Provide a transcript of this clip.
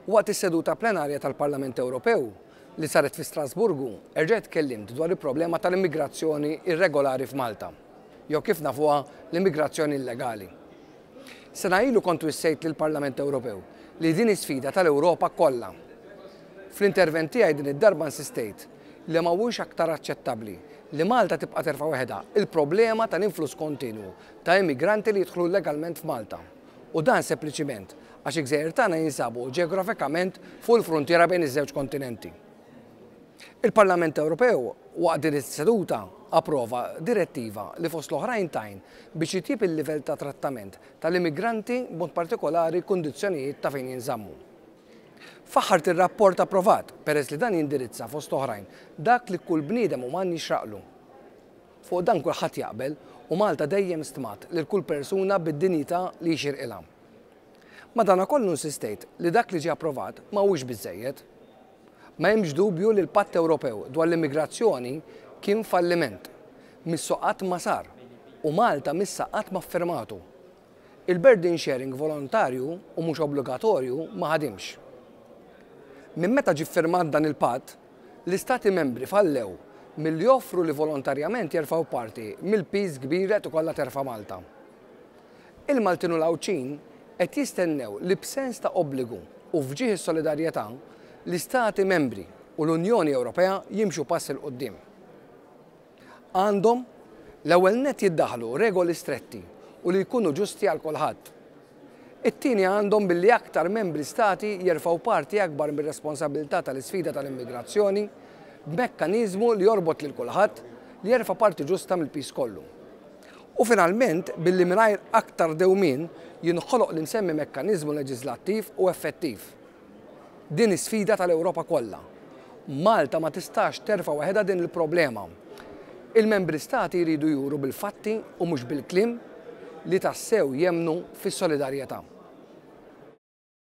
Waqt is-seduta plenarja tal-Parlament Ewropew li saret fi Strasburgu, erġajt tkellimt dwar il-problema tal-immigrazzjoni irregolari f'Malta, jew kif nafuha l-immigrazzjoni illegali. Sena ilu kont wissejt lill-Parlament Ewropew li din hi sfida tal-Ewropa kollha. Fl-intervent tiegħi din id-darba insistejt li ma huwiex aktar aċċettabbli li Malta tibqa' terfa' waħedha l-problema tal-influss kontinwu ta' immigranti li jidħlu illegalment f'Malta. U dan sempliċiment għax il-gżejjer tagħna jinsabu ġeografikament fuq il-fruntiera bejn iż-żewġ kontinenti. Il-Parlament Ewropew waqt din is-seduta approva direttiva li fost l-oħrajn tgħin biex jitjieb il-livell ta' trattament tal-immigranti b'mod partikolari l-kundizzjonijiet ta' fejn jinżammu. Faħħart ir-rapport approvat peress li dan jindirizza fost oħrajn dak li kull bniedem uman jixraqlu. Fuq dan kulħadd jaqbel u Malta dejjem stmat lil kull persuna bid-dinjità li jixirqilha. Madanakollu insistejt li dak li ġie approvat ma huwiex biżżejjed. Ma hemmx dubju li l-Patt Ewropew dwar l-Immigrazzjoni kien falliment. Missu qatt ma sar u Malta missha qatt ma ffirmatu. Il-burden sharing volontarju u mhux obbligatorju ma ħadimx. Minn meta ġie ffirmat dan il-patt, l-Istati Membri fallew milli joffru li volontarjament jerfgħu parti mill-piż kbir li qed ikollha terfa' Malta. Il-Maltin u l-Għawdxin qed jistennew li b'sens ta' obbligu u f'ġieħ is-solidarjetà, l-Istati Membri u l-Unjoni Ewropea jimxu pass 'il quddiem. Għandhom, l-ewwel nett jiddaħħlu regoli stretti u li jkunu ġusti għal kulħadd. It-tieni għandhom billi aktar membri stati jerfgħu parti akbar mir-responsabilità tal-isfida tal-immigrazzjoni b'mekkaniżmu li jorbot lil kulħadd li jerfa' parti ġusta mill-piż kollu. U finalment billi mingħajr aktar dewmien jinħoloq l-imsemmi mekkaniżmu leġiżlattiv u effettiv. Din hi sfida tal-Ewropa kollha. Malta ma tistax terfa' waħedha din il-problema. Il-membri stati jridu juru bil-fatti u mhux bil-kliem li tassew jemmnu fis-solidarjetà.